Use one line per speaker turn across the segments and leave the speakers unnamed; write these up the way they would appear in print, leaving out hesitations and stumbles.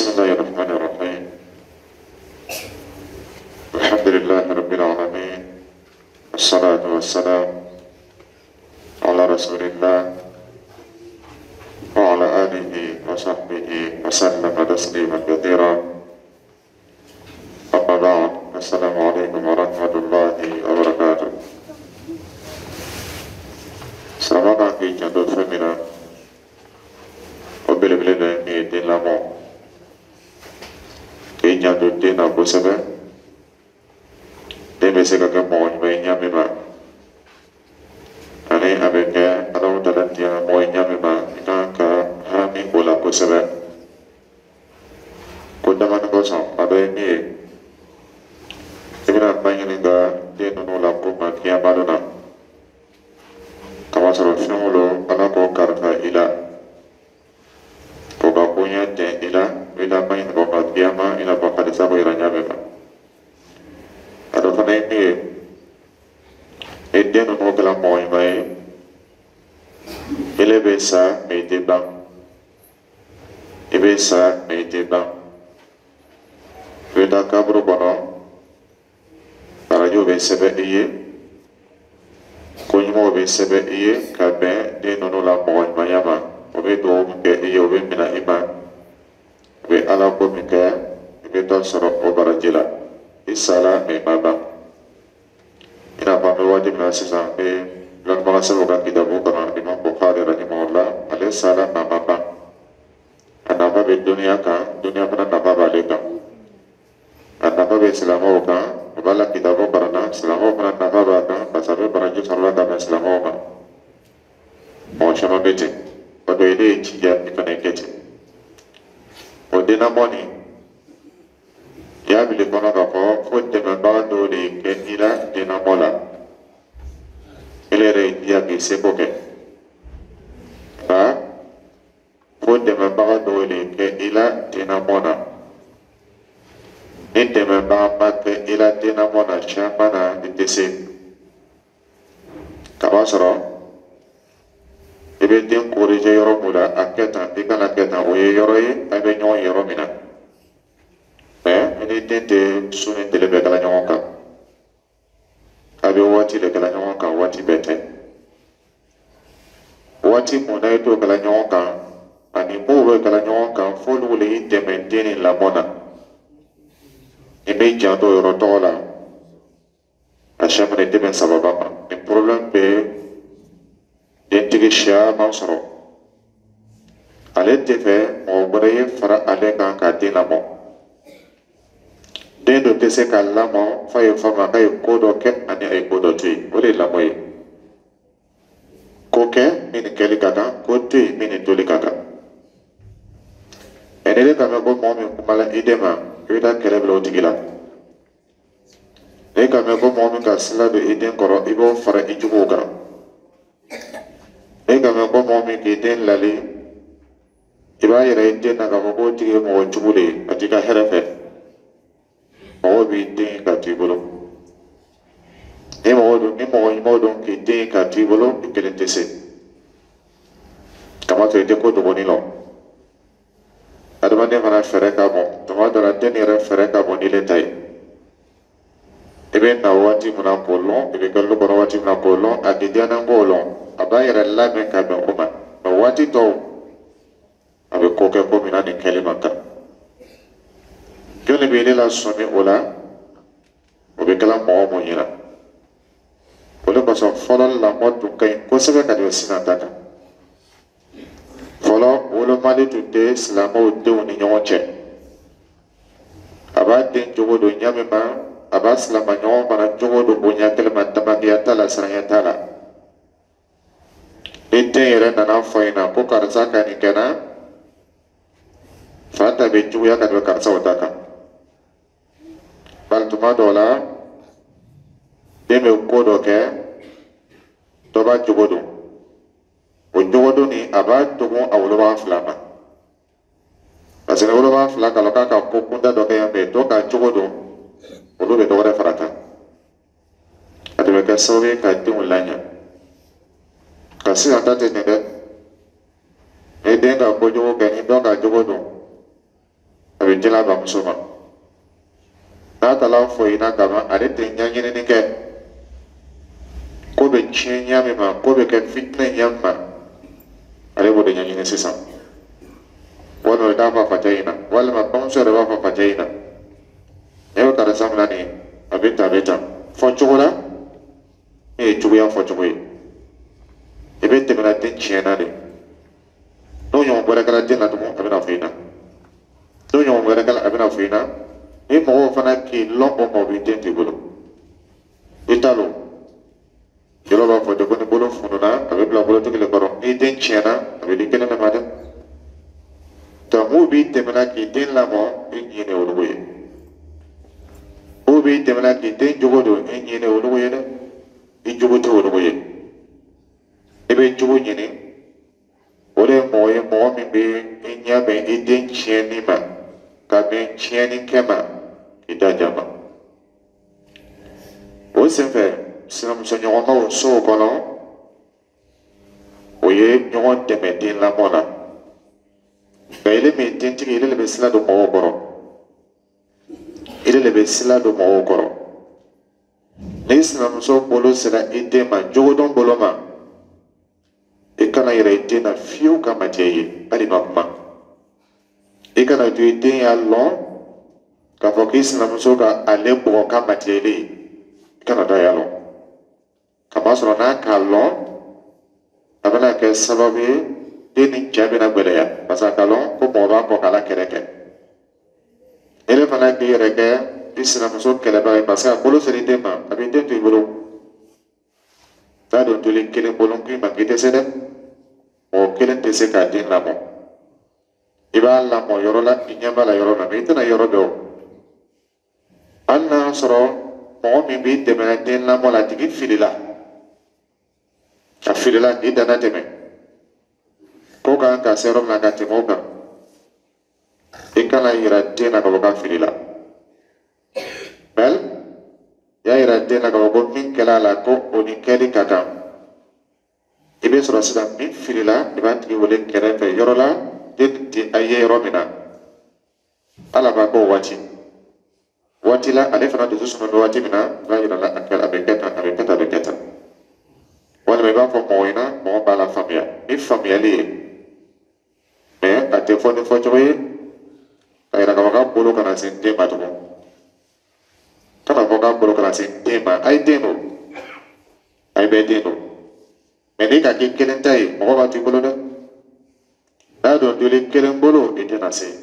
بسم الله الرحمن الرحيم. الحمد لله رب العالمين، والصلاة والسلام على رسول الله وعلى آله وصحبه وسلم تسليما كثيرا. أما بعد، السلام عليكم ورحمة الله وبركاته. Silamɛ kan k'i janto fɛn min na, o belebele dɔ ye min ye, den lamɔ. K'i janto den na kosɛbɛ. Den bɛ se ka kɛ mɔgɔ ɲuman ye ɲa min ma, ani a bɛ kɛ Alahu Taala diya mɔgɔ ye ɲa min ma, i kan ka hami o la kosɛbɛ. Ko damani kosɔn, a dɔ ye min ye, i bɛna ba ɲininka den ninnu la ko ma kiyama don na, kamasɔrɔ fɛn o lo Ala k'o kalifa i la, k'o ka koɲɛ tɛ i la, i la ma ɲininka o ma kiyama, i n'a fɔ hadisa ko yira ɲa min ma. A dɔ fana ye min ye, ni den ninnu kɛra mɔgɔ ɲuman ye, ele bɛ sa mɛ i tɛ ban. I bɛ sa mɛ i tɛ ban. I bɛ taa kaburu kɔnɔ, arajo bɛ sɛbɛn i ye, ko ɲumanw bɛ sɛbɛn i ye ka bɛn den ninnu la mɔgɔ ɲumanya ma. O bɛ dugawu min kɛ i ye, o bɛ minɛ i ma. O bɛ Ala ko min kɛ, i bɛ taa sɔrɔ o baraji la. I sara mɛ i ma ban. I n'a fɔ an bɛ waati min na sisan, an bɛ lɔnnibaga sɛbɛnw ka kitabu kɔnɔ, Imam Bukhari rahimahullah, ale sara mɛ a ma ban. A nafa bɛ duniya kan, duniya fana nafa b'ale kan. A nafa bɛ silamɛw kan, o b'a la kitabu kalan, silamɛw fana nafa b'a kan, parce que a bɛ baraji sɔrɔ la ka bɛn silamɛw ma. Mɔgɔ caman bɛ ten. O dɔ ye, ne ye jija i fana kɛ ten. O denlamɔ nin, i y'a bila i kɔnɔ k'a fɔ fo dɛmɛbaga dɔw de kɛ i la denlamɔ la. Ele yɛrɛ ye jija k'i seko kɛ, nka fo dɛmɛbaga dɔw de kɛ i la denlamɔ na. Ni dɛmɛbaga ma kɛ i la denlamɔ na, caman na i tɛ se. Kaba sɔrɔ i bɛ den corriger yɔrɔ mun la, a kɛ tan, i kana kɛ tan, o ye yɔrɔ ye a bɛ ɲɔgɔn ye yɔrɔ min na. Mɛ i ni den tɛ su ni tile bɛɛ kɛla ɲɔgɔn kan. A bɛ waati de kɛla ɲɔgɔn kan, waati bɛɛ tɛ. Waati mun na i t'o kɛla ɲɔgɔn kan, ani mun bɛ kɛla ɲɔgɔn kan, f'olu le y'i dɛmɛ den ni lamɔ na. I bɛ janto o yɔrɔ tɔgɔ la, a siɲɛ i tɛ bɛn sababa ma. Nin problème bɛ dentigi caman sɔrɔ. Ale tɛ fɛ mɔgɔ wɛrɛ ye fara ale kan k'a den lamɔ. Den dɔ tɛ se k'a lamɔ f'a ye faamu k'a ye ko dɔ kɛ ani a ye ko dɔ to yen. O de ye lamɔ ye. Ko kɛ min ni kɛli ka kan, ko to yen min ni toli ka kan. Ɛ ni ne ka mɛn ko mɔgɔ min kumala i den ma, i bɛ taa kɛlɛ bila o tigi la. Ne ka mɛn ko mɔgɔ min ka sira don i den kɔrɔ, i b'o fara i juguw kan. Ne ka mɛn ko mɔgɔ min k'i den lali, i b'a yɛrɛ i den na k'a fɔ k'o tigi ye mɔgɔ jugu de ye, a t'i ka hɛrɛ fɛ. Mɔgɔw b'i den ka to i bolo. Ni mɔgɔ don, ni mɔgɔ ɲumanw don k'i den ka to i bolo, i kelen tɛ se. Kamasɔrɔ i tɛ ko dɔgɔnin lɔ. Adamaden fana fɛɛrɛ ka bon. Tuma dɔ la, den yɛrɛ fɛɛrɛ ka bon n'ile ta ye. I bɛ na waati min na k'o lɔn, i bɛ kɛ lu kɔnɔ waati min na k'o lɔn, a k'i diya k'o lɔn, a b'a yɛrɛ labɛn ka bɛn o ma. Mɛ waati tɔw, a bɛ ko kɛ ko min na nin kɛli man kan. Jɔnni bɛ ne la sɔmi o la? O bɛ kɛla mɔgɔ mun ɲɛna. O de kosɔn fɔlɔ lamɔ tun ka ɲi kosɛbɛ ka tɛmɛ sisan ta kan. Fɔlɔ, wolomali tun tɛ silamɛw denw ni ɲɔgɔn cɛ. A b'a den jogo don ɲa min ma, a b'a silama ɲɔgɔn fana jogo don o ɲɛ kelen ma. Tamakiya t'a la, siranya t'a la. Ni den yɛrɛ nana fɔ ɲɛna ko karisa ka nin kɛ na, fa ta bɛ juguya ka tɛmɛ karisa o ta kan. Bari tuma dɔw la, den bɛ ko dɔ kɛ, dɔ b'a jogo don. O jogo don nin, a b'a dogo a wolobaga fila ma, parce que ni wolobaga fila k'a lɔn k'a ka ko kunda dɔ kɛ yan fɛ, dɔ k'a jogo don, olu bɛ dɔ wɛrɛ fara kan. A de bɛ kɛ sababu ye ka denw laɲa. Ka sisan ta tɛ nin dɛ. Ni den ka kojugu kɛ, ni dɔ ka jogo don, dila bamuso ma. N'a taara fɔ i ɲɛna kaban, ale tɛ ɲɛɲinini kɛ ko bɛ tiɲɛ ɲa min ma, ko bɛ kɛ fitinɛ ɲa min ma, ale b'o de ɲɛɲini sisan. Walima o t'a fɔ a facɛ ɲɛna, walima bamuso yɛrɛ b'a fɔ facɛ ɲɛna: ne bɛ karisa min na nin ye, a bɛ tan, a bɛ tan. Fɔ cogo la min ye juguya fɔcogo ye, i bɛ tɛmɛ na den tiɲɛna de. N'o ɲɔgɔn wɛrɛ kɛra den na tugun, a bɛna fɔ i ɲɛna. N'o ɲɔgɔn wɛrɛ kɛra, a bɛna fɔ i ɲɛna. Ni mɔgɔw fana k'i lɔn o ma, o b'i den t'i bolo, i t'a lɔn. Jɔlɔ b'a fɔ ten ko ni bolo fununa, a bɛ bila bolotigi le kɔrɔ. N'i den tiɲɛna, a bɛ di kelen de ma dɛ. Donc mun b'i dɛmɛ k'i den lamɔ, i ɲin de olugu ye. Mun b'i dɛmɛ k'i den jogo don, i ɲin de olugu ye dɛ. I jogo tɛ olugu ye. I bɛ jogo ɲini, o de ye mɔgɔ ye, mɔgɔ min bɛ i ɲɛ bɛn i den tiɲɛni ma, ka bɛn tiɲɛni kɛ ma, k'i da ja ma. O senfɛ, sinamusoɲɔgɔnmaw sow kɔnɔ, o ye ɲɔgɔn dɛmɛ den lamɔ la. Nka ile min dentigi, ile de bɛ sira don mɔgɔw kɔrɔ, ile de bɛ sira don mɔgɔw kɔrɔ. N'i sinamuso bolo sera i den ma, jogodɔn bolo ma, i kana yɛrɛ i den na fiyewu ka matiɲɛ ye, hali ma kuma. I kana to i den y'a lɔn k'a fɔ k'i sinamuso ka ale bugɔ ka matiɲɛ ile ye. I kana to a y'a lɔn, kamasɔrɔ n'a k'a lɔn, a bɛna kɛ sababu ye den ni cɛ bɛna gɛlɛya, parce que a k'a lɔn ko mɔgɔ b'a kɔ k'a la kɛlɛ kɛ. Ele fana k'i yɛrɛ kɛ i sinamuso kɛlɛbaga ye, parce que a bolo sera i den ma, a b'i den to i bolo. N'a don toli kelen bolo k'i ma k'i tɛ se dɛ, mɔgɔ kelen tɛ se k'a den lamɔ. I b'a lamɔ yɔrɔ la, i ɲɛ b'a la yɔrɔ la, mɛ i tɛna yɔrɔ dɔn. Hali n'a sɔrɔ mɔgɔ min b'i dɛmɛ den lamɔ la, a tigi filila, a filila k'i danna tɛmɛ ko kan ka se yɔrɔ min na ka tɛmɛ o kan, i kana yira den na k'a fɔ k'a filila. Bɛl y'a yira den na k'a fɔ ko min kɛla a la, ko o ni kɛli ka kan. I bɛ sɔrɔ sisan, min filila, i b'a tigi wele kɛrɛfɛ yɔrɔ la, den tɛ a ye yɔrɔ min na. Ala b'a k'o waati waati la, ale fana dusu suma bɛ waati min na, i b'a yira la a kɛ, a bɛ kɛ tan, a bɛ kɛ tan, a bɛ kɛ tan. Walima i b'a fɔ mɔgɔ ɲɛna, mɔgɔ b'a la faamuya ni faamuyali ye, mɛ a tɛ fɔ ni fɔcogo ye ka yira k'a fɔ k'a bolo kana se den ma tugun. Kana fɔ k'a bolo kana se den ma. A ye den don, a ye bɛɛ den don, mɛ n'i ka k'i kelen ta ye, mɔgɔ b'a to i bolo dɛ. N'a don joli kelen bolo, i tɛna se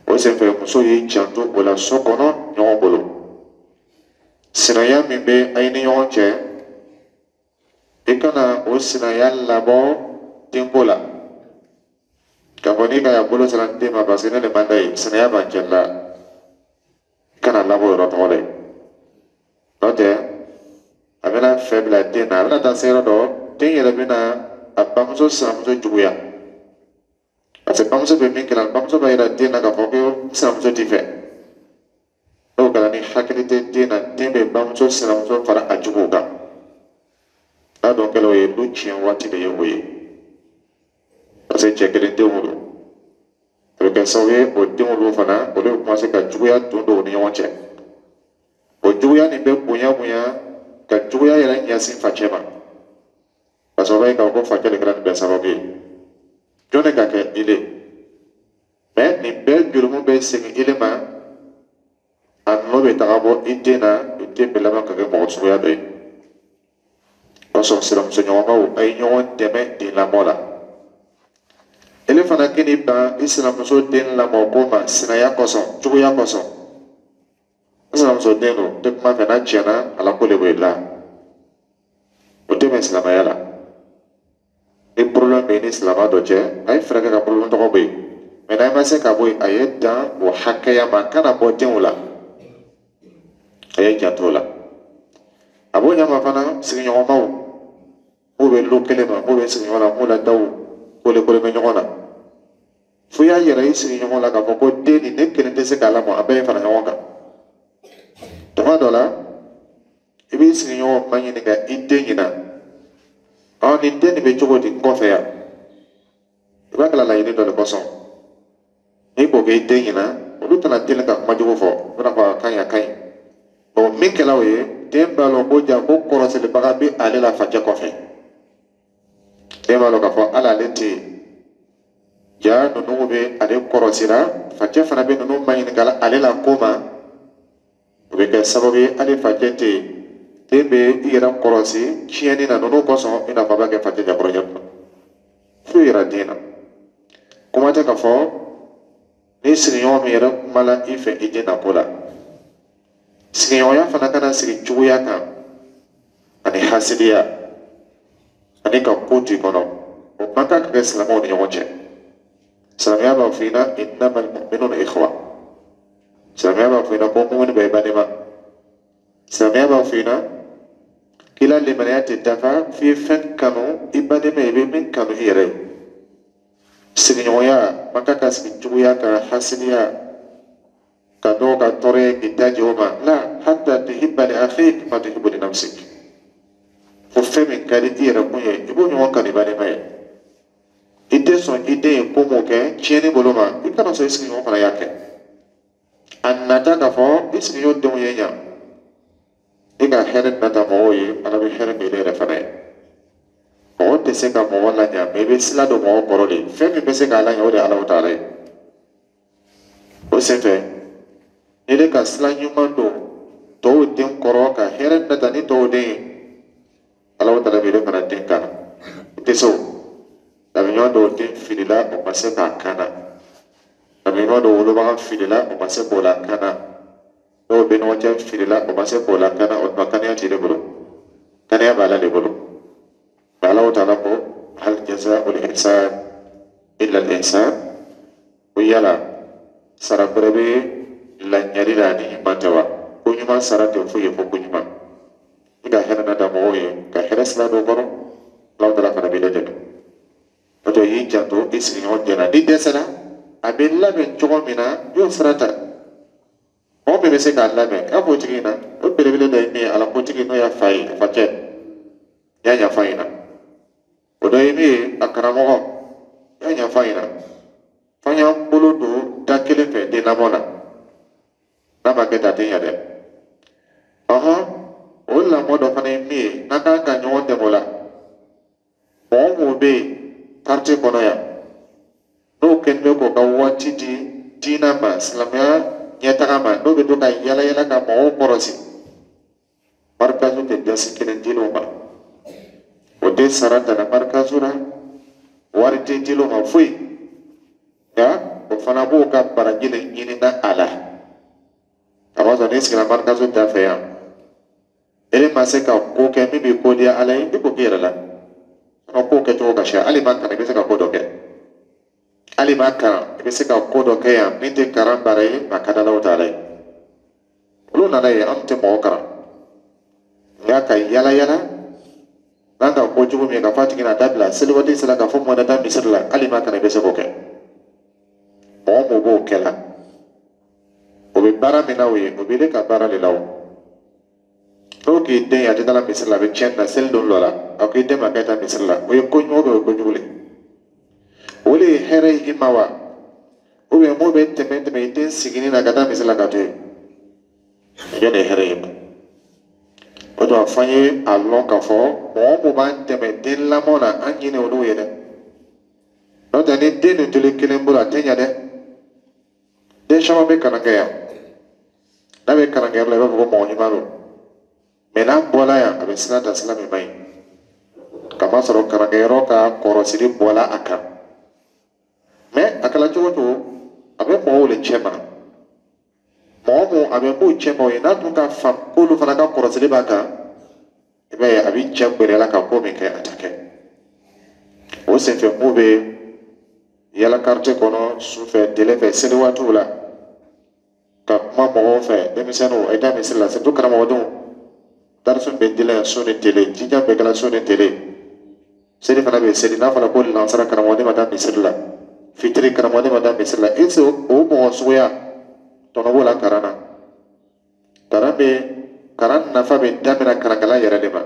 o senfɛ. Muso y'i janto o la so kɔnɔ ɲɔgɔn bolo. Sinaya min bɛ a ni ɲɔgɔn cɛ, i kana o sinaya labɔ denko la, k'a fɔ n'i ka ya bolo sera den ma, parce que ne de man d'a ye, sinaya b'an cɛ la. I kana labɔ o yɔrɔ tɔgɔ la n'o tɛ, a bɛna fɛ bila den na. A bɛna taa se yɔrɔ dɔ, den yɛrɛ bɛna a bamuso sinamuso juguya, parce que bamuso bɛ min kɛ, bamuso b'a yira den na k'a fɔ ko sinamuso t'i fɛ. N'o kɛra, ni hakili tɛ den na, den bɛ bamuso sinamuso fara a juguw kan. N'a dɔn kɛla o ye, du tiɲɛ waati de ye o ye, parce que cɛ kelen denw don. A bɛ kɛ sababu ye, o denw olu fana, olu bɛ commencer ka juguya don u ni ɲɔgɔn cɛ. O juguya nin bɛ bonya bonya ka juguya yɛrɛ ɲɛsin facɛ ma, parce que o b'a ye k'a fɔ ko facɛ de kɛra nin bɛɛ sababu ye. Jɔn de ka kɛ ile, mɛ nin bɛɛ jurumu bɛ segin ile ma. A nɔ bɛ taga bɔ i den na, i den bɛ laban ka kɛ mɔgɔ suguya dɔ ye. O kosɔn, sinamusoɲɔgɔnmaw, a ye ɲɔgɔn dɛmɛ den lamɔ la. Ele fana k'i ban i sinamuso den lamɔ ko ma sinaya kosɔn, juguya kosɔn. N sinamuso den don, n tɛ kuma fɛ, n'a tiɲɛna, ala ko de b'o la. O tɛ bɛn silamɛya la. Ni problème bɛ ni silamɛ dɔ cɛ, a ye fɛɛrɛ kɛ ka problème tɔgɔ bɔ yen, mɛ n'a ma se ka bɔ yen, a ye dan o hakɛya ma, a kana bɔ denw la. A ye janto o la. A b'o ɲɛ ma fana, sigiɲɔgɔnmaw m'u bɛ lu kelen ma, m'u bɛ sigiɲɔgɔn na, m'u la daw kole kole bɛ ɲɔgɔn na, fo y'a yɛrɛ i sigiɲɔgɔn la k'a fɔ ko den nin, ne kelen tɛ se k'a lamɔ, a bɛɛ ye fara ɲɔgɔn kan. Tuma dɔ la, i b'i sigiɲɔgɔn ma ɲininka i den ɲina, ɔ, nin den nin bɛ cogo di n kɔfɛ yan? I b'a kɛla laɲini dɔ de kosɔn. N'i k'o kɛ i den ɲɛna, olu tɛna teli ka kuma jugu fɔ, u bɛna fɔ a ka ɲi, a ka ɲi. Bon, min kɛla o ye, den b'a lɔn ko ja ko kɔrɔsilibaga bɛ ale la facɛ kɔfɛ. Den b'a lɔn k'a fɔ hali ale tɛ yen, ja ninnu bɛ ale kɔrɔsira, facɛ fana bɛ ninnu maɲininkala ale la ko ma. O bɛ kɛ sababu ye, hali facɛ tɛ yen, den bɛ i yɛrɛ kɔrɔsi tiɲɛni na ninnu kosɔn, i n'a fɔ a b'a kɛ facɛ jakɔrɔ ɲɛ kuma foyi yɛrɛ den na. Kuma tɛ k'a fɔ ni sigiɲɔgɔn min yɛrɛ kumala i fɛ i den na ko la. Sigiɲɔgɔnya fana kana sigi juguya kan ani hasidiya ani ka ko to i kɔnɔ. O man kan ka kɛ silamɛw ni ɲɔgɔn cɛ. Silamɛya b'a fɔ i ɲɛna: innamal mu'minuna ikhwa. Silamɛya b'a fɔ i ɲɛna ko mumuni bɛɛ ye badenma. Silamɛya b'a fɔ i ɲɛna k'i la limaniya tɛ dafa f'i ye fɛn kanu i badenma ye, i bɛ min kanu i yɛrɛ ye. Sigiɲɔgɔnya man kan ka sigi juguya kan, hasidiya, ka dɔw ka tɔɔrɔ ye k'i da jɛ o ma la. Hatta tuhibba li akhik ma tuhibbu li nafsik. Fo fɛn min ka di i yɛrɛ kun ye, i b'o ɲɔgɔn kanu i badenma ye. I tɛ sɔn i den ye ko mun kɛ tiɲɛni bolo ma, i kana sɔn i sigiɲɔgɔn fana y'a kɛ. A nata k'a fɔ i sigiɲɔgɔn denw ye ɲa, i ka hɛrɛ nata mɔgɔw ye, Ala bɛ hɛrɛ min yɛrɛ fana ye. Mɔgɔ tɛ se ka mɔgɔ laɲa, mɛ i bɛ sila don mɔgɔ kɔrɔ de. Fɛn min bɛ se k'a laɲa, o de ye Ala taala ye. O senfɛ, n'i de ka sila ɲuman don tɔw den kɔrɔ ka hɛrɛ nata ni tɔw den ye, Ala taala bɛ fana den kana. I tɛ se o dabiɲɔgɔn dɔw den filila, o ma se k'a kana. Dabiɲɔgɔn dɔw wolobaga filila, o ma se k'o lakana. Dɔw bɛ ɲɔgɔn cɛ filila, o ma se k'o lakana. O tuma kaniya t'i de bolo, kaniya b'Ala de bolo. Ala taala ko: hal jazaa'ul ihsan illa al ihsan. Ko yala sara wɛrɛ bɛ laɲali la ni ɲuman tɛ wa? Ko ɲuman sara tɛ foyi ye fo ko ɲuman. I ka hɛrɛ nata mɔgɔw ye, ka hɛrɛ sira dɔ kɔrɔ, Ala taala fana b'i lajɛ. O tɔ y'i janto i sigiɲɔgɔn den na. N'i dɛsɛra, a bɛ labɛn cogo min na, i y'o sira ta. Mɔgɔ min bɛ se k'a labɛn, e b'o tigi na. O belebele dɔ ye min ye, Ala kotigi, n'o y'a fa ye, a facɛ, i y'a ɲɛfɔ a ɲɛna. O dɔ ye min ye, a karamɔgɔ, i y'a ɲɛfɔ a ɲɛna. F'an y'an bolo don da kelen fɛ den lamɔ la. N'a ma kɛ ten, a tɛ ɲɛ dɛ. Ɔhɔn, o lamɔ dɔ fana ye min ye, n'an kan ka ɲɔgɔn dɛmɛ o la, mɔgɔ mun bɛ yen quartier kɔnɔ yan, n'o kɛlen bɛ k'o ka waati di diinɛ ma, silamɛya ɲɛtaga ma, n'o bɛ to ka yala yala ka mɔgɔw kɔrɔsi, marikazu tɛ dasi kelen dil'o ma, o tɛ sara tana marikazu la, wari tɛ dil'o ma, foyi. Nka o fana b'o ka baraji de ɲinina a la. A b'a sɔrɔ n'i sigira marikazu da fɛ yan, e ma se ka ko kɛ min bɛ ko diya Ala ye, i k'o k'i yɛrɛ la. Ko kɛcogo ka siya, hali ma kalan, i bɛ se ka ko dɔ kɛ. Hali ma kalan, i bɛ se ka ko dɔ kɛ yan min tɛ kalan baara ye, a ka d'Alaw taala ye. Olu nana ye, an tɛ mɔgɔ kalan, nka ka yala yala n'an ka ko jugu min ye, ka fɔ a tigi na dabila, seli waati sera, ka fɔ mɔnɛ taa misiri la, hali ma kalan, i bɛ se k'o kɛ. Mɔgɔ mun b'o kɛ la, o bɛ baara min na, o ye o bɛ ne ka baara de la. O n'o k'i den ye, a tɛ taa misiri la, a bɛ tiɲɛni na. Seli don dɔ la, a ko i den ma k'e taa misiri la, o ye ko ɲuman, o ye kojugu le. O de ye hɛrɛ ye i ma wa? Ou bien mun bɛ tɛmɛ tɛmɛ i den sigini na ka taa misiri la ka to yen, jɔn de ye hɛrɛ ye ma? O tuma, f'an ye a lɔn k'a fɔ mɔgɔ mun b'an dɛmɛ den lamɔ na, an ɲini olu ye dɛ. N'o tɛ, ni den nin toli kelen bolo, a tɛ ɲɛ dɛ. Den caman bɛ kalan kɛ yan, n'a bɛ kalankɛyɔrɔ la, i b'a fɔ ko mɔgɔ ɲuman don, mɛ n'a bɔla yan, a bɛ sira ta, sira min man ɲi, kamasɔrɔ kalankɛyɔrɔ ka kɔrɔsili bɔla a kan. Mɛ a kɛla cogo o cogo, a bɛ mɔgɔw de cɛ ma. Mɔgɔ mun a bɛ m'u cɛ ma, o ye n'a dun ka faamu k'olu fana ka kɔrɔsili b'a kan, i b'a ye a bɛ cɛ gbɛrɛ la ka ko min kɛ, a tɛ kɛ. O senfɛ, mun bɛ yala quartier kɔnɔ sufɛ, tile fɛ, seli waatiw la, ka kuma mɔgɔw fɛ, denmisɛnninw, a ye taa misiri la, surtout karamɔgɔdenw. Darisu bɛ dila yan so ni tele, jija bɛɛ kɛra so ni tele. Seli fana bɛ seli, n'a fɔra ko lansara, karamɔgɔden ma taa misiri la, fitiri, karamɔgɔden ma taa misiri la, est ce que o mɔgɔ suguya tɔnɔ b'o la kalan na? Kalan bɛ, kalan nafa bɛ daminɛ karankala yɛrɛ de ma.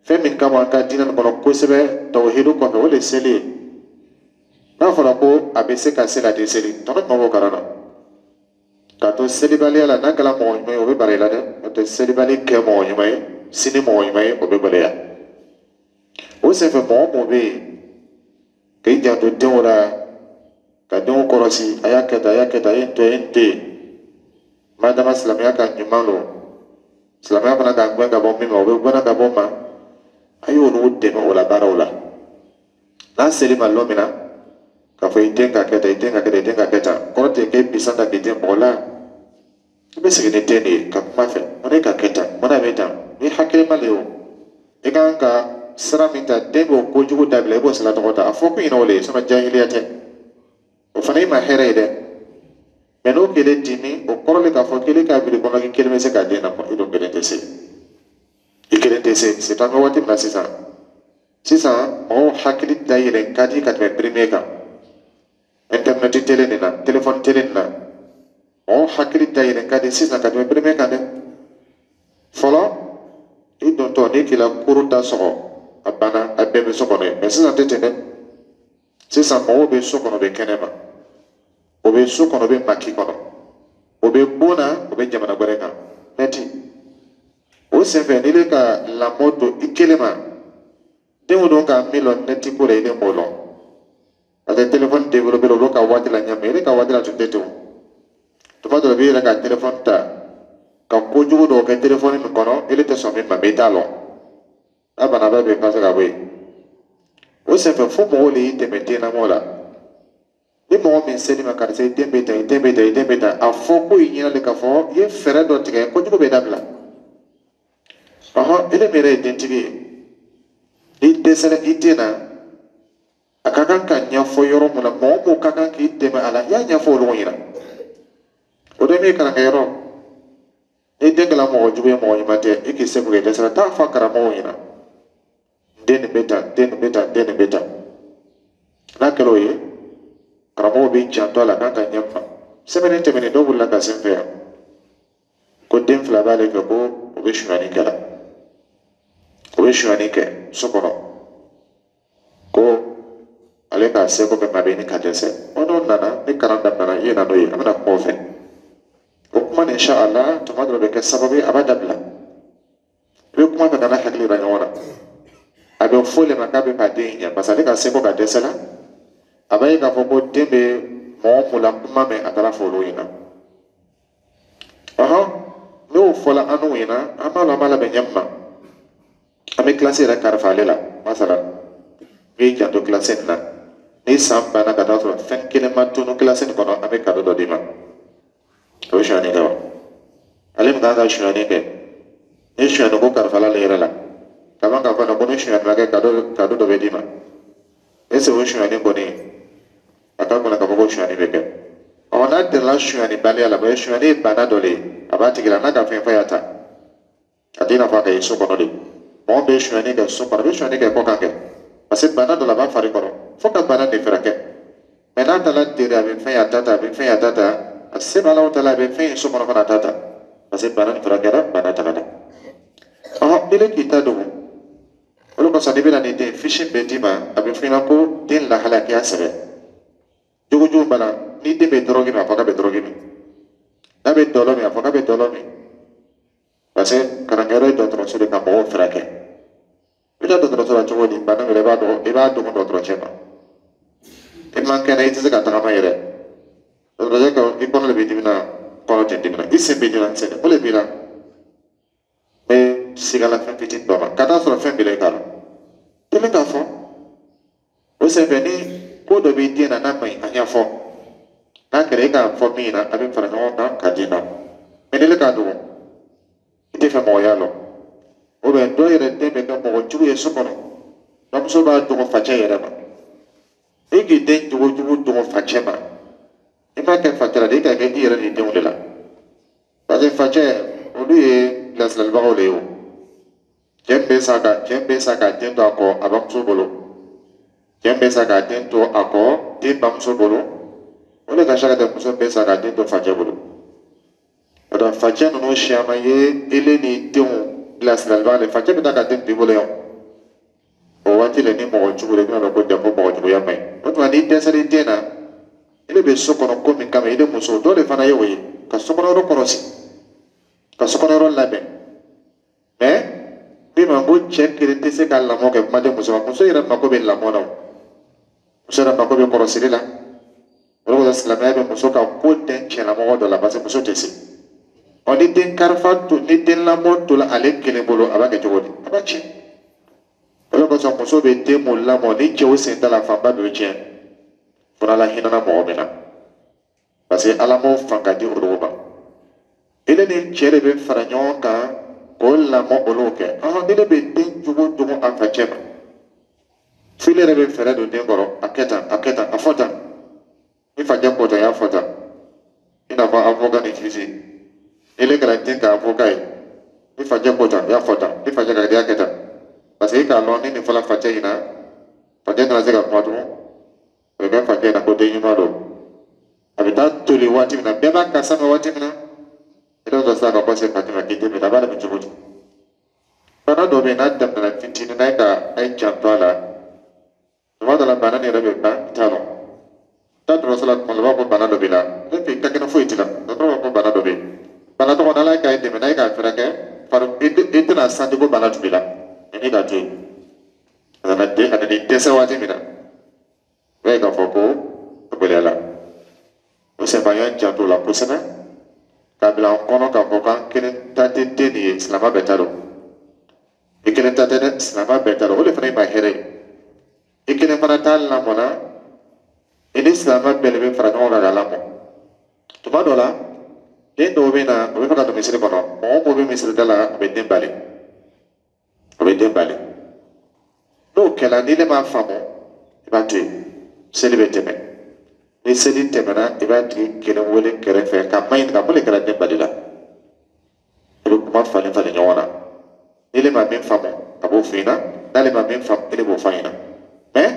Fɛn min kama an ka diinɛ nin kɔnɔ kosɛbɛ, tawhidu kɔfɛ, o de ye seli ye. N'a fɔra ko a bɛ se ka seli, a tɛ seli, tɔnɔ jumɛn b'o kalan na? K'a to selibaliya la, n'a kɛra mɔgɔ ɲuman ye, o bɛ bara i la dɛ. N'o tɛ, selibali kɛ mɔgɔ ɲuman ye sini, mɔgɔ ɲuman ye, o bɛ gɛlɛya. O senfɛ, mɔgɔ mɔgɔ bɛ yen k'i janto denw la, ka denw kɔlɔsi, a y'a kɛ tan, a y'a kɛ tan, a ye nin to yen, a ye nin to yen, madama silamɛya ka ɲuman don, silamɛya fana ka gɛn ka bɔ min ma, o bɛ gɛnna ka bɔ ma, a y'olu dɛmɛ o la baaraw la. N'a seli ma lon min na, k'a fɔ i den ka kɛ tan, i den ka kɛ tan, i den ka kɛ tan, kɔrɔ tɛ k'e bisan ta k'i den mɔgɔ la. I bɛ sigi ni den de ye ka kuma fɛ: mun ne ka kɛ tan, mun na bɛ tan? Ni hakilima de ye o, i kan ka sira min ta, den b'o kojugu dabila, i b'o sira tɔgɔ ta. A fɔ ko ɲinɛ o le ye, sinon jahiliya tɛ. O fana i ma hɛrɛ ye dɛ. Mɛ n'o kelen dimi, o kɔrɔ le k'a fɔ kelen k'a biri kɔnɔ k'i kelen bɛ se k'a den lamɔ. I dun kelen tɛ se, i kelen tɛ se. C'est an bɛ waati min na sisan, sisan mɔgɔw hakili dayɛlɛ ka di ka tɛmɛ premier kan. Internet télé nin na, téléphone télé nin na, mɔgɔw hakili dayɛlɛ ka di sisan ka tɛmɛ premier kan dɛ. Fɔlɔ, i dontɔ n'i k'i la kuru da sɔgɔ, a banna, a bɛɛ bɛ so kɔnɔ yen. Mɛ sisan tɛ ten dɛ. Sisan mɔgɔw bɛ so kɔnɔ, bɛ kɛnɛ ma, o bɛ so kɔnɔ, bɛ maki kɔnɔ, o bɛ bon na, o bɛ jamana wɛrɛ kan nɛti. O senfɛ, n'i bɛ ka lamɔ don i kelen ma, denw don ka min lɔn nɛti ko la, i den b'o lɔn, parce que téléphone développé olu ka waati la ɲɛ, mɛ e ka waati la tun tɛ ten o. Tuma dɔ la, i b'i yɛrɛ ka téléphone ta ka kojugu dɔw kɛ téléphone min kɔnɔ, ele tɛ sɔn min ma, mɛ i t'a lɔn. N'a bana bɛɛ bɛ effacer ka bɔ yen. O senfɛ, fo mɔgɔw de y'i dɛmɛ den lamɔ la. Ni mɔgɔ min seli ma, karisa, i den bɛ tan, i den bɛ tan, i den bɛ tan, a fɔ ko i ɲɛna de k'a fɔ i ye fɛɛrɛ dɔ tigɛ, kojugu bɛ dabila. Ɔhɔn, ele min yɛrɛ ye dentigi ye, n'i dɛsɛra i den na, a ka kan ka ɲɛfɔ yɔrɔ mun na, mɔgɔ mun ka kan k'i dɛmɛ a la, i y'a ɲɛfɔ olu ɲɛna. O de min kalankɛyɔrɔ, ni den kɛra mɔgɔ jugu ye, mɔgɔ ɲuman tɛ, i k'i seko kɛ, dɛsɛra, taa fɔ karamɔgɔw ɲɛna: den nin bɛ tan, den nin bɛ tan, den nin bɛ tan. N'a kɛra o ye, karamɔgɔw b'i janto a la k'an ka ɲɛ kuma. Sɛbɛnni tɛmɛnen, dɔw wulila ka se n fɛ yan ko den fila b'ale fɛ, ko o bɛ sonyani kɛ la, o bɛ sonyani kɛ so kɔnɔ, ko ale k'a seko kɛ, maa bɛ ɲini ka dɛsɛ. O n'o nana ni kalan daminɛna, i ye na n'o ye, an bɛna kuma o fɛ. O kuma nin, inshallah, tuma dɔ bɛ kɛ sababu ye a b'a dabila. I bɛ kuma fɛ ka n'a hakili yira ɲɔgɔn na, a bɛ fɔ le ma k'a bɛ k'a den ɲɛ, parce que ale ka seko ka dɛsɛ la. A b'a ye k'a fɔ ko den bɛ mɔgɔ mun la kuma mɛn, a taara fɔ olu ɲɛna. Ɔhɔn, n'o fɔla an n'u ɲɛna, an b'a lɔn, an b'a labɛn ɲɛ min ma, an bɛ kilasi yɛrɛ kalifa ale la. Masala, i b'i janto kilasi nin na, ni san banna ka taa sɔrɔ fɛn kelen ma tunu kilasi nin kɔnɔ, an bɛ cadeau dɔ d'i ma. O bɛ sonyani kɛ wa? Ale min kan ka sonyani kɛ, ni sonyani ko kalifala ale yɛrɛ la kaban, k'a fɔ ko ni sonyani ma kɛ, cadeau dɔ bɛ d'i ma, est ce que o sonyani kɔni a ka kɔnɔ k'a fɔ ko sonyani bɛ kɛ? Ɔ, n'a tɛmɛna sonyani baliya la, parce que sonyani ye bana dɔ de ye, a b'a tigi la, n'a ka fɛn fɔ y'a ta, a tɛ i n'a fɔ a ka ye so kɔnɔ de. Mɔgɔ bɛ sonyani kɛ so kɔnɔ, a bɛ sonyani kɛ kɔ kan kɛ, parce que bana dɔ la a b'a fari kɔrɔ, fo ka bana de fɛrɛ kɛ. Mɛ n'a taara tere, a bɛ fɛn y'a ta ta, a bɛ fɛn y'a ta ta, a se b'a la, o ta la, a bɛ fɛn ye so kɔnɔ fana, a ta ta, parce que bana nin furakɛra, bana tagara. Ɔhɔn, n'i k'i ta dogo, o de kosɔn n'i bɛna ni den fiche bɛ d'i ma, a bɛ f'i ɲɛna ko den lahalaya k'i y'a sɛbɛn. Jogojugu bana, ni den bɛ dɔrɔgi min, a fɔ k'a bɛ dɔrɔgi min, n'a bɛ dɔlɔ min, a fɔ k'a bɛ dɔlɔ min, parce que kalankɛyɔrɔ ye dɔgɔtɔrɔso de ka mɔgɔw furakɛ. I bɛ taa dɔgɔtɔrɔso la cogo di? Bana yɛrɛ, i b'a dɔn, i b'a dogo dɔgɔtɔrɔcɛ ma. I man kɛnɛ, i tɛ se ka tagama yɛrɛ. Dɔgɔtɔrɔcɛ ka i kɔnɔ de b'i dimi na, kɔnɔ tɛ dimi na, i sen b'i dimi na, sen o de b'i la. N bɛ sigala fɛn fitinin dɔ ma ka taa sɔrɔ fɛn b'i la, i k'a dɔn tɛmɛ k'a fɔ. O senfɛ, ni ko dɔ b'i den na n'a ma ɲi, a ɲɛfɔ. N'a kɛra e k'a fɔ min na, a bɛ fara ɲɔgɔn kan ka d'i ma. Mɛ ni ne k'a dogo, i tɛ fɛ mɔgɔ y'a lɔn, o bɛ dɔw yɛrɛ den bɛ kɛ mɔgɔ jugu ye so kɔnɔ, bamuso b'a dogo facɛ yɛrɛ ma. E k'i den jogo jugu dogo facɛ ma, i m'a kɛ facɛ la de, i k'a kɛ i yɛrɛ ni denw de la, parce que facɛ olu ye bilasiralibagaw de ye. O cɛ bɛ sa k'a den to a kɔ a bamuso bolo, cɛ bɛ sa k'a den to a kɔ den bamuso bolo, o de ka sa ka tɛ muso bɛ sa k'a den to facɛ bolo. O la, facɛ ninnu siyaman ye ele ni denw bilasiralibaga de. Facɛ bɛ taa ka den to i bolo yan, o O waati la, ni mɔgɔ jugu de bɛna dɔn ko janko mɔgɔ juguya man ɲi. O tuma, n'i dɛsɛra i den na, i de bɛ so kɔnɔ ko min kama, i de muso dɔ de fana ye o ye ka sokɔnɔ yɔrɔ kɔlɔsi, ka sokɔnɔ yɔrɔ labɛn. Mais min ma ko cɛ kelen tɛ se ka lamɔ kɛ, kuma tɛ muso ma. Muso yɛrɛ mako bɛ lamɔ na, o muso yɛrɛ mako bɛ kɔlɔsili la. O de kosɔn silamɛya bɛ muso ka ko dɛn cɛlamɔgɔ dɔ la, parce que muso tɛ se. Ɔ, ni den karifa to, ni den lamɔ tola ale kelen bolo, a b'a kɛ cogo di? A b'a tiɲɛ. O de kosɔn muso bɛ den mun lamɔ ni cɛw sen t'a la, fanba bɛ tiɲɛ, fo n'Ala hinɛna mɔgɔ min na, parce que Ala m'o fanga di olu ma. Ele ni cɛ de bɛ fara ɲɔgɔn kan k'o lamɔ, olu kɛ. Ɔhɔn, ni ne bɛ den jugu jugu a facɛ ma, f'ile yɛrɛ bɛ fɛɛrɛ don den kɔrɔ: a kɛ tan, a kɛ tan, a fɔ tan, ni facɛ ko tan, i y'a fɔ tan. I n'a fɔ avocat ni juge, ile kɛra den ka avocat ye, ni facɛ ko tan, i y'a fɔ tan, ni facɛ ka di, i y'a kɛ tan, parce que i k'a lɔn ni nin fɔla facɛ ɲɛna, facɛ tɛna se ka kuma tugun. O bɛ kɛ facɛ ɲɛna ko den ɲuman don. A bɛ taa toli waati min na, bɛɛ b'a kasa mɛn waati min na, i bɛ sɔrɔ sisan ka bɔ se facɛ ma k'i den minɛ. A b'a lamɛn cogo di? Bana dɔ bɛ yen, n'a daminɛna fitinin n'a ye ka a ye janto a la, tuma dɔ la bana nin yɛrɛ bɛ ban. I t'a dɔn, taa dɔgɔtɔrɔso la, tuma dɔ la, u b'a fɔ ko bana dɔ b'i la, ne fɛ i ka kɛnɛ, foyi t'i la. Dɔgɔtɔrɔ b'a fɔ ko bana dɔ bɛ yen, bana tɔgɔ n'Ala ye k'a dɛmɛ n'a ye k'a fɛɛrɛ kɛ fari, i tɛna santi ko bana tun b'i la, mɛ n'i k'a to yen, a nana den, a nana i dɛsɛ waati min na, i b'a ye k'a fɔ ko a gɛlɛyara. O senfɛ, an y'an janto o la kosɛbɛ k'a bila an kɔnɔ k'a fɔ k'an kelen ta tɛ den nin ye, silamɛ bɛɛ ta don. I kelen ta tɛ dɛ, silamɛ bɛɛ ta don. O de fana ye ma hɛrɛ ye. I kelen fana t'a lamɔna, i ni silamɛ bɛɛ de bɛ fara ɲɔgɔn kan k'a lamɔ. Tuma dɔ la, den dɔw bɛ na, o bɛ fɛ ka don misiri kɔnɔ, mɔgɔ o mɔgɔ bɛ misiri da la, o bɛ den bali, o bɛ den bali. N'o kɛla, ni ne m'a faamu, i b'a to yen, seli bɛ tɛmɛ. Ni seli tɛmɛna, i b'a tigi kelen wele kɛrɛfɛ ka ma ɲininka mun de kɛra den bali la. I bɛ kuma falen falen ɲɔgɔn na. Ni ne ma min faamu, a b'o f'i ɲɛna, n'ale ma min faamu, e de b'o f'a ɲɛna. Mais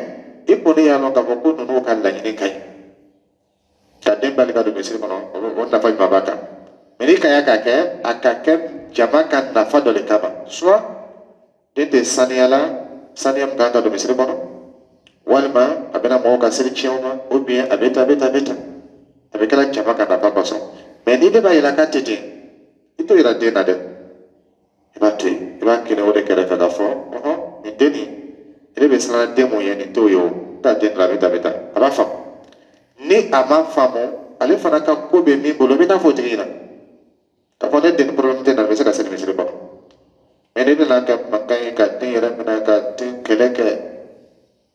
i kɔni y'a lɔn k'a fɔ ko ninnu ka laɲini ka ɲi ka den bali ka don misiri kɔnɔ, o nafa jumɛn b'a kan? Mais n'i ka y'a ka kɛ, a ka kɛ jama ka nafa dɔ de kama, soit den tɛ saniya la, saniya min kan ka don misiri kɔnɔ, walima a bɛna mɔgɔw ka seli tiɲɛ ma, ou bien a bɛ tan, a bɛ tan, a bɛ tan, a bɛ kɛra jama ka nafa kosɔn. Mais ni ne b'a yira k'a tɛ ten, i t'o yira den na dɛ, i b'a to yen, i b'a kelen o de kɛrɛfɛ k'a fɔ: ɔhɔn, nin den nin, e bɛ siran den mun ye, nin t'o ye. O taa den la, a bɛ tan, a bɛ tan, a b'a faamu. Ni a ma faamu, ale fana ka ko bɛ min bolo, i bɛ taa fɔ o tigi ɲɛna k'a fɔ ne den ni problème tɛ na, n bɛ se ka seli misiri kɔnɔ. Mais ni nana kɛ mankan ye ka den yɛrɛ minɛ ka den kɛlɛ kɛ,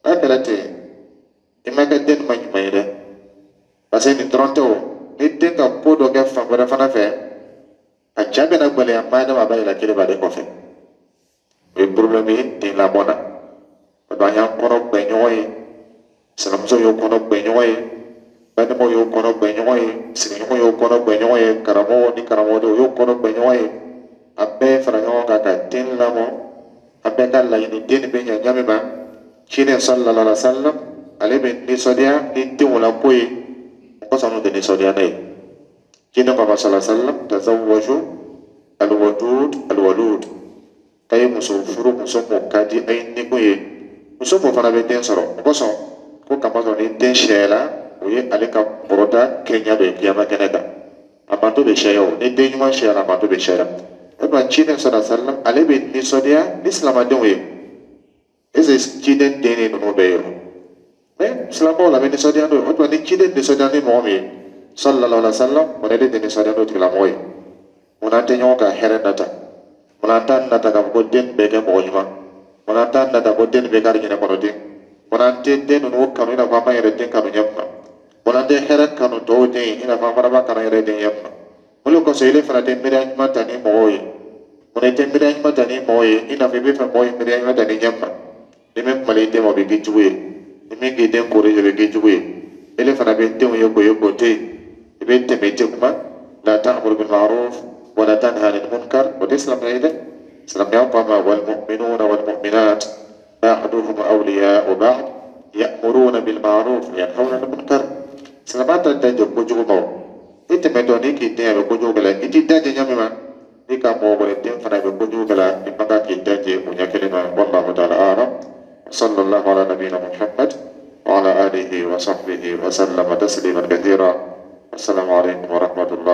n'a kɛra ten, i ma kɛ den ma ɲuman ye dɛ, parce que nin dɔrɔn tɛ o. Ni den ka ko dɔ kɛ fan wɛrɛ fana fɛ, a ja bɛna gɛlɛya maa dama, a b'a yira kelen b'ale kɔfɛ. O ye problème ye den lamɔ na. O don, an y'an kɔnɔ gbɛ ɲɔgɔn ye, sinamuso y'o kɔnɔ gbɛ ɲɔgɔn ye, balimaw y'o kɔnɔ gbɛ ɲɔgɔn ye, sigiɲɔgɔn y'o kɔnɔ gbɛ ɲɔgɔn ye, karamɔgɔw ni karamɔgɔdenw y'o kɔnɔ gbɛ ɲɔgɔn ye. A bɛɛ fara ɲɔgɔn kan ka den lamɔ. A bɛɛ ka laɲini den nin bɛ ɲɛ ɲɛ min ma, ciden sallallahu alaihi wa sallam, ale bɛ nisɔndiya ni denw la ko ye, o kosɔn n'u tɛ nisɔndiya n'a ye. Ciden ko a ma, sallallahu alaihi wa sallam: tazawwaju alwadud alwalud, k'a ye muso furu, muso mun ka di a ye ni ko ye, muso mun fana bɛ den sɔrɔ. O kosɔn ko kamasɔrɔ ni den sɛyɛla, o ye ale ka kɔrɔta kɛɲɛ dɔ ye kiyama kɛnɛ kan. A manto bɛ sɛya o, ni den ɲuman sɛyara, a manto bɛ sɛya. O tuma, ciden sallallahu alaihi wa sallam, ale bɛ nisɔndiya ni silamɛdenw ye. Est ce que ciden den ni ninnu bɛɛ ye o? Mais silamɛw la, bɛ nisɔndiya n'o ye. O tuma, ni ciden nisɔndiya ni mɔgɔ min ye, sallallahu alaihi wa sallam, o de tɛ nisɔndiya n'o tigilamɔgɔ ye. Munna an tɛ ɲɔgɔn ka hɛrɛ nata? Munna an t'a nata k'a fɔ ko den bɛɛ kɛ mɔgɔ ɲuman? Munna an t'a nata ko den bɛɛ k'ale ɲinɛ kɔnɔ den? Munna an tɛ den ninnu kanu i n'a fɔ an b'an yɛrɛ den kanu ɲɛ min na? Munna an tɛ hɛrɛ kanu tɔw den ye i n'a fɔ an fana b'a kanu yɛrɛ den ɲɛ min na? O de kosɔn, ile fana tɛ miiriya ɲuman ta ni mɔgɔw ye. Munna i tɛ miiriya ɲuman ta ni mɔgɔw ye i n'a fɔ i bɛ fɛ mɔgɔw ye miiriya ɲuman ta ni ɲɛ min na? Ni min kumala i den ma, o bɛ k'i jugu ye. Ni min k'i den corriger, o bɛ k'i jugu ye. Ele fana bɛ denw ye k'o ye k'o to yen, i bɛ tɛmɛ, i tɛ kuma. La ta'muru bil ma'ruf wa la tanha 'anil munkar, o tɛ silamɛya ye dɛ. Silamɛya ko a ma: wal mu'minuna wal mu'minat ba'duhum awliya'u ba'd ya'muruna bil ma'ruf wa yanhauna 'anil munkar. Silamɛya t'a da jɔ kojugu ma. O i tɛmɛtɔ n'i k'i den a bɛ kojugu kɛ la, i t'i da jɛ ɲɛ min ma, n'i ka mɔgɔ wɛrɛ den fana bɛ kojugu kɛ la, i man kan k'i da jɛ o ɲɛ kelen ma. Wallahu ta'ala a'lam. صلى الله على نبينا محمد وعلى آله وصحبه وسلم تسليما كثيرا. السلام عليكم ورحمة الله.